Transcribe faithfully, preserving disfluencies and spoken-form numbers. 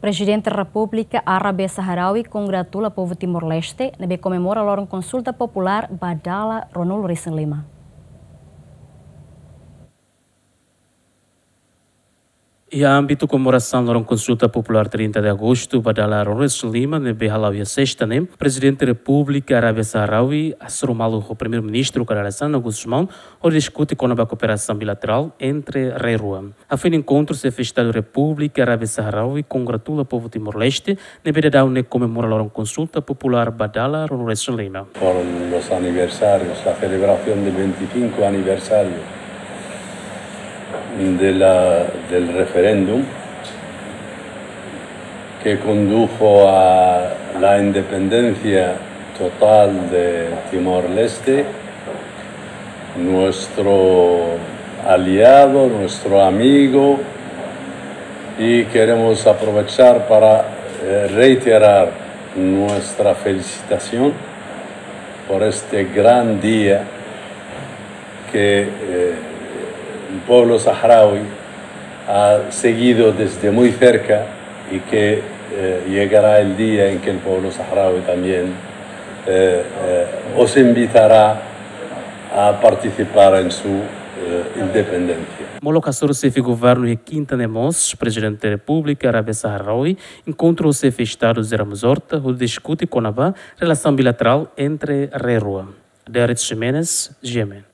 Prezidente Repúblika Arábia Sahrawi kongratula povu Timor-Leste ne'ebé komemora loron konsulta populár ba dala ruanulu-resin-lima. Iha ámbitu komemorasaun loron konsulta populár trinta de agostu ba dala ruanulu-resin-lima ne'ebé hala'o iha sesta ne'e, Prezidente Repúblika Arábia Sahrawi hasoru malu ho Primeiru-Ministru Kay Rala Xanana Gusmão hodi diskute kona-ba kooperasaun bilaterál entre rai rua. Hafoin enkontru, Xefe Estadu Repúblika Arábia Sahrawi kongratula povu Timor-Leste ne'ebé daudaun ne'e komemora loron konsulta populár ba dala ruanulu-resin-lima. Por los aniversarios, la celebración del veinticinco aniversario de la, del referéndum que condujo a la independencia total de Timor-Leste, nuestro aliado, nuestro amigo, y queremos aprovechar para, eh, reiterar nuestra felicitación por este gran día que, eh, el pueblo saharaui ha seguido desde muy cerca y que, eh, llegará el día en que el pueblo saharaui también, eh, eh, os invitará a participar en su, eh, independencia. Molok hasoru Xefe Governu iha kinta ne'e mós, Prezidente Repúblika Arábia Sahrawi enkontra ho Xefe Estadu José Ramos Horta hodi diskute kona-ba relasaun bilaterál entre rai rua. Derek Ximenes, G M N.